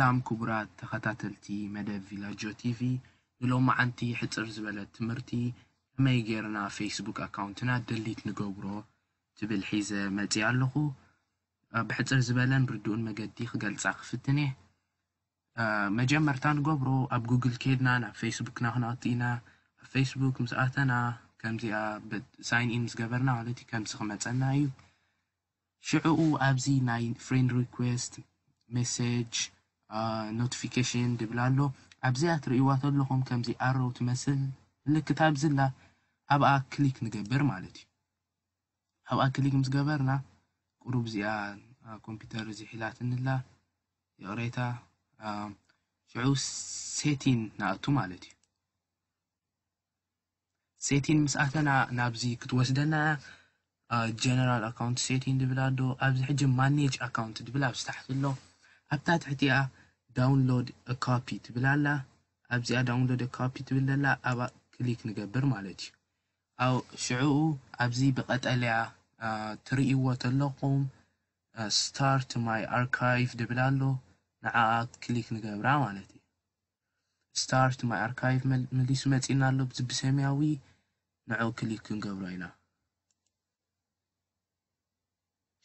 ሰላም ክቡራት ተኸታተልቲ መደብ ቪላጆ ቲቪ፣ ንሎማዓንቲ ሕጽር ዝበለት ትምህርቲ ከመይ ጌርና ፌስቡክ ኣካውንትና ደሊት ንገብሮ ትብል ሒዘ መጺኣ ኣለኹ። ብሕጽር ዝበለን ርዱእን መገዲ ክገልጻ ክፍትን እየ። መጀመርታ ንገብሮ ኣብ ጉግል ኬድና ናብ ፌስቡክና ክነእቱ ኢና። ኣብ ፌስቡክ ምስ ኣተና ከምዚኣ ሳይን ኢን ምስ ገበርና ማለት እዩ ከምዚ ክመጸና እዩ። ሽዕኡ ኣብዚ ናይ ፍሬንድ ሪኩዌስት፣ ሜሴጅ፣ ኖቲፊኬሽን ድብል ኣሎ። ኣብዚኣ ትርእይዋ ተለኹም ከምዚ ኣሮ ትመስል ምልክት ኣብዝላ ኣብኣ ክሊክ ንገብር ማለት እዩ። ኣብኣ ክሊክ ምስ ገበርና ቁሩብ እዚኣ ኮምፒውተር እዚ ሒላትንላ ይቕሬታ። ሽዑ ሴቲን ንኣቱ ማለት እዩ። ሴቲን ምስ ኣተና ናብዚ ክትወስደና ጀነራል ኣካውንት ሴቲን ድብል ኣሎ። ኣብዚ ሕጂ ማኔጅ ኣካውንት ድብል ኣብዚ ታሕቲ ኣሎ። ኣብታ ትሕቲኣ ዳውንሎድ ኮፒ ትብል ኣላ። ኣብዚኣ ዳውንሎድ ኮፒ ትብል ዘላ ኣብኣ ክሊክ ንገብር ማለት እዩ። ኣብ ሽዕኡ ኣብዚ ብቐጠልያ ትርእይዎ ተለኹም ስታርት ማይ ኣርካይቭ ድብል ኣሎ። ንዓኣ ክሊክ ንገብራ ማለት እዩ። ስታርት ማይ ኣርካይቭ መሊሱ መፂና ኣሎ። ብዚ ብሰማያዊ ንዑ ክሊክ ክንገብሮ ኢና።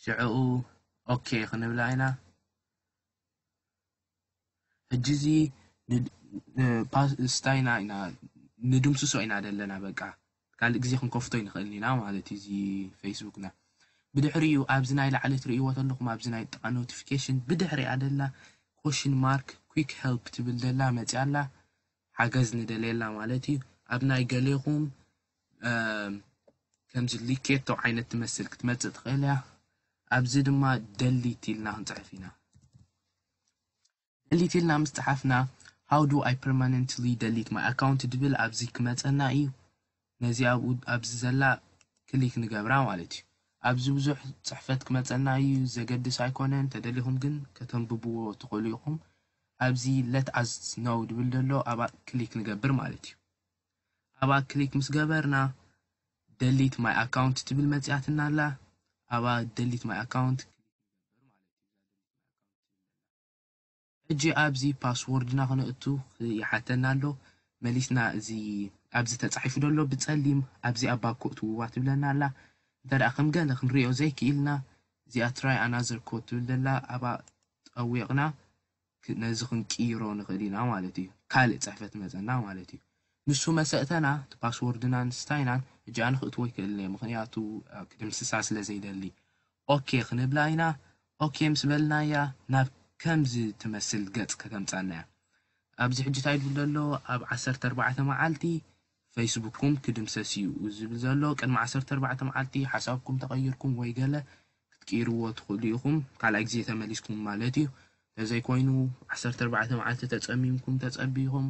ሽዕኡ ኦኬ ክንብላ ኢና። ሕጂ እዚ ስታይና ኢና ንድምስሶ ኢና ዘለና። በቃ ካልእ ግዜ ክንከፍቶ ይንኽእል ኢና ማለት እዩ እዚ ፌስቡክና። ብድሕሪኡ ኣብዚ ናይ ላዕሊ ትርእይዎ ተለኹም ኣብዚ ናይ ጥቓ ኖቲፊኬሽን ብድሕሪኣ ደላ ኮሽን ማርክ ኩክ ሄልፕ ትብል ደላ መፅያ ኣላ። ሓገዝ ንደልየላ ማለት እዩ። ኣብ ናይ ገሌኹም ከምዚ ሊኬቶ ዓይነት ትመስል ክትመፅእ ትኽእል እያ። ኣብዚ ድማ ደሊት ኢልና ክንፅሕፍ ኢና። ደሊት ኢልና ምስ ፀሓፍና how do I permanently delete my account ድብል ኣብዚ ክመፀና እዩ። ነዚ ኣብኡ ኣብዚ ዘላ ክሊክ ንገብራ ማለት እዩ። ኣብዚ ብዙሕ ፅሕፈት ክመፀና እዩ፣ ዘገድስ ኣይኮነን። ተደሊኹም ግን ከተንብብዎ ትኽእሉ ኢኹም። ኣብዚ let us know ድብል ዘሎ ኣብኣ ክሊክ ንገብር ማለት እዩ። ኣብኣ ክሊክ ምስ ገበርና ደሊት ማይ ኣካውንት ትብል መፅያትና ኣላ። ኣብኣ ደሊት ማይ ኣካውንት ሕጂ ኣብዚ ፓስወርድና ክነእቱ ይሓተና ኣሎ። መሊስና እዚ ኣብዚ ተፃሒፉ ዘሎ ብፀሊም ኣብዚ ኣባ ኮእትውዋ ትብለና ኣላ። እንተ ደኣ ከም ገለ ክንሪኦ ዘይክኢልና እዚኣ ትራይ ኣናዘር ኮድ ትብል ዘላ ኣብኣ ጠዊቕና ነዚ ክንቅይሮ ንኽእል ኢና ማለት እዩ። ካልእ ፅሕፈት መፀና ማለት እዩ። ንሱ መሰእተና እቲ ፓስወርድናን ስታይናን ሕጂ ኣነ ክእትዎ ይክእል እየ፣ ምክንያቱ ክድምስሳ ስለ ዘይደሊ። ኦኬ ክንብላ ኢና። ኦኬ ምስ በልናያ ናብ ከምዚ ትመስል ገፅ ከተምፃና እያ። ኣብዚ ሕጂ እንታይ ድብል ዘሎ ኣብ ዓሰርተ ኣርባዕተ መዓልቲ ፌስቡክኩም ክድምሰስ እዩ ዝብል ዘሎ። ቅድሚ ዓሰርተ ኣርባዕተ መዓልቲ ሓሳብኩም ተቐይርኩም ወይ ገለ ክትቅይርዎ ትኽእሉ ኢኹም። ካልኣይ ግዜ ተመሊስኩም ማለት እዩ። ተዘይኮይኑ ዓሰርተ ኣርባዕተ መዓልቲ ተጸሚምኩም ተጸቢኹም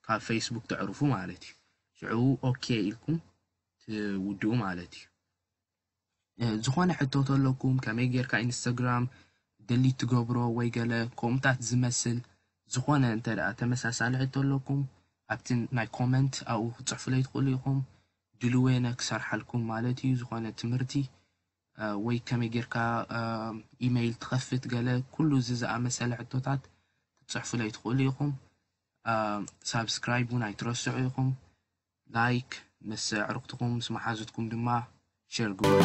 ካብ ፌስቡክ ተዕርፉ ማለት እዩ። ሽዑ ኦኬ ኢልኩም ትውድኡ ማለት እዩ። ዝኾነ ሕቶ ተለኩም ከመይ ጌርካ ኢንስታግራም ደሊት ትገብሮ ወይ ገለ ከምኡታት ዝመስል ዝኾነ እንተ ደኣ ተመሳሳሊ ሕቶ ኣለኩም ኣብቲ ናይ ኮመንት ኣብኡ ክትፅሕፉለይ ትኽእሉ ኢኹም። ድልዌነ ክሰርሓልኩም ማለት እዩ። ዝኾነ ትምህርቲ ወይ ከመይ ጌርካ ኢሜይል ትኸፍት ገለ ኩሉ እዚ ዝኣመሰለ ሕቶታት ክትፅሕፉለይ ትኽእሉ ኢኹም። ሳብስክራይብ እውን ኣይትረስዑ ኢኹም። ላይክ ምስ ኣዕሩኽትኩም ምስ መሓዙትኩም ድማ ሸር ግበሩ።